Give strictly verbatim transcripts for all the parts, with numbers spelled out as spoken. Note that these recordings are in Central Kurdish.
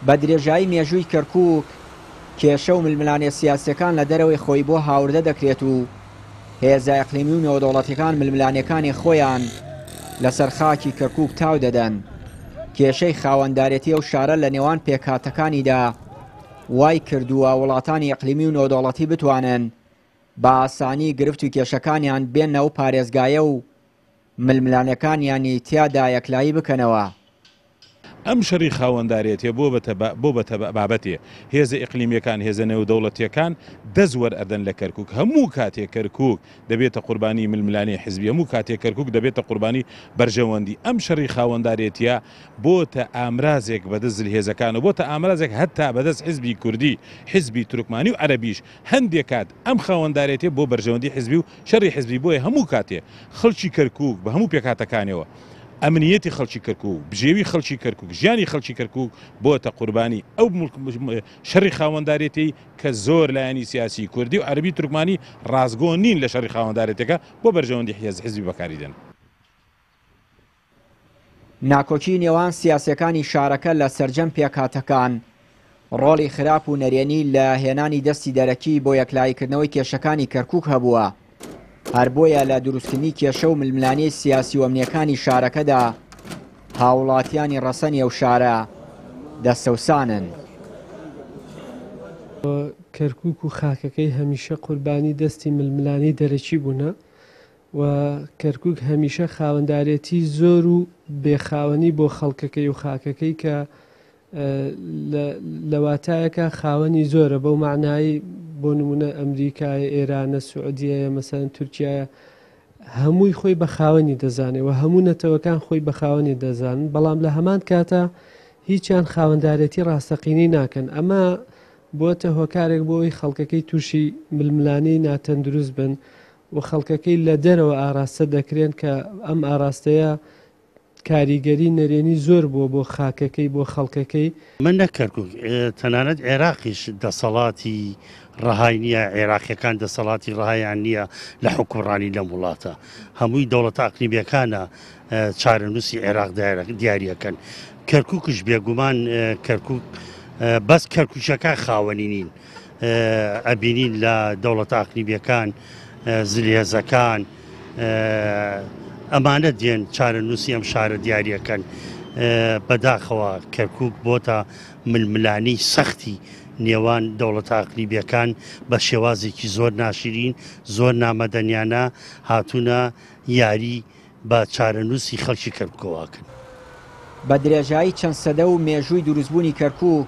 بە درێژایی مێژووی کەرکووک کێشە و ململانێ سیاسیەکان لە دەرەوەی خۆی بۆ هاوردە دەکرێت و هێزە ئەقلیمی و نێودەوڵەتیەکان ململانێکانی خۆیان لەسەر خاکی کەرکووک تاو دەدەن. کێشەی خاوەندارێتی ئەو شارە لە نێوان پێکهاتەکانیدا وای کردووە وڵاتانی ئەقلیمی و نێودەوڵەتی بتوانن بە ئاسانی گرفت و کێشەکانیان بێنە ئەو پارێزگایە و ململانێکانیانی تیادا یەکلایی بکەنەوە. ئەم شەڕی خاوەندارێتیە بۆ بۆ بە بابەتێ هێزە ئیقلیمیەکان، هێزە نێودەوڵەتیەکان دەست وەرئەدەن لە کەرکوک. هەموو کاتێک کەرکوک دەبێتە قوربانی ململانێ حزبی، هەموو کاتێک کەرکوک دەبێتە قوربانی بەرژەوەندی. ئەم شەڕی خاوەندارێتیە بۆتە ئامرازێک بەدەست زلهێزەکان و بۆتە ئامرازێک هەتا بەدەست حزبی کوردی، حزبی تورکمانی و عەرەبیش. هەندێک کات ئەم خاوەندارێتیە بۆ بەرژەوەندی حزبی و شەڕی حزبی، بۆیە هەموو کاتێ خەڵکی کەرکوک بە هەموو پێکهاتەکانەوە، ئەمنیەتی خەڵکی کەرکوک، بژێوی خەڵکی کەرکوک، ژیانی خەڵکی کەرکوک بۆتە قوربانی ئەو شەڕی خاوەندارێتی کە زۆر لایەنی سیاسی کوردی و عەرەبی تورکمانی ڕاستگۆ نین لە شەڕی خاوەندارێتەکە بۆ بەرژەوەندی حزبی بەکاری دێن. ناکۆکی نێوان سیاسەکانی شارەکە لە سەرجەم پێکهاتەکان ڕۆڵی خراپ و نەرێنی لە هێنانی دەستی دەرەکی بۆ یەکلاییکردنەوەی کێشەکانی کەرکوک هەبووە. هەر بۆیە لە دروستکردنی کێشە و ململانێی سیاسی و ئەمنیەکانی شارەکەدا هاوڵاتیانی ڕەسەنی ئەو شارە دەستەوسانن. کەرکوک و خاکەکەی هەمیشە قوربانی دەستی ململانێی دەرەکی بوونە و کەرکوک هەمیشە خاوەندارێتی زۆر و بێخاوەنی بۆ خەڵکەکەی و خاکەکەی کە لە واتایەکە خاوەنی زۆرە، بەو معنایی بۆ نمونە ئەمریکایە، ئێرانە، سعودیەیە، مەسەلەن تورکیایە، هەمووی خۆی بە خاوەنی دەزانێ و هەموو نەتەوەکان خۆی بە خاوەنی دەزانن، بەڵام لە هەمان کاتە هیچیان خاوەندارێتی ڕاستەقینەی ناکەن. ئەمە بۆتە هۆکارێک بۆ ئەوەی خەڵکەکەی تووشی ململانێی ناتەندروست بن و خەڵکەکەی لە دەرەوە ئاراستە دەکرێن کە ئەم ئاراستەیە کاریگەری نەرێنی زۆر بووە بۆ خاکەکەی، بۆ خەڵکەکەی. من نەک کەرکوک، تەنانەت عێراقیش دەسەڵاتی ڕەهای نییە، عێراقیەکان دەسەڵاتی ڕەهایان نییە لە حکومڕانی لەم وڵاتە. هەمووی دەوڵەتە ئەقلیمیەکانە چارەنووسی عێراق دیاریەکەن. کەرکوکش بێگومان کەرکوک بەس کەرکوچەکان خاوەنی نین، ئەبینین لە دەوڵەتە ئەقلیمیەکان، زلهێزەکان ئەمانە دێن چارەنووسی ئەم شارە دیاریەکەن. بەداخەوە کەرکوک بۆتە ململانێی سەختی نێوان دەوڵەتە ئەقلیمیەکان بە شێوازێکی زۆر ناشرین، زۆر نامەدەنیانە هاتوونە یاری بە چارەنووسی خەڵکی کەرکوکەوەکەن. بە درێژایی چەند سەدە و مێژووی دروستبوونی کەرکوک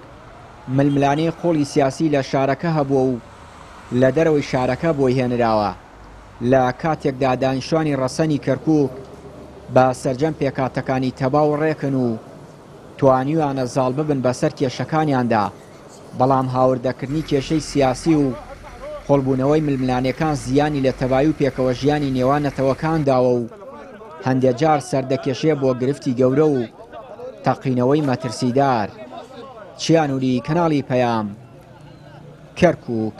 ململانێی قوڵی سیاسی لە شارەکە هەبووە و لە دەرەوەی شارەکە بۆی هێنراوە. لە کاتێکدا دانیشتوانی ڕەسەنی کەرکوک بە سەرجەم پێکهاتەکانی تەبا و ڕێکن و توانیویانە زاڵ ببن بەسەر کێشەکانیاندا، بەڵام هاوردەکردنی کێشەی سیاسی و قوڵبوونەوەی ململانێکان زیانی لە تەبایی و پێکەوە ژیانی نێوان نەتەوەکان داوە و هەندێک جار سەردەکێشێ بۆ گرفتی گەورە و تەقینەوەی مەترسیدار. چیانوری، کەناڵی پەیام، کەرکوک.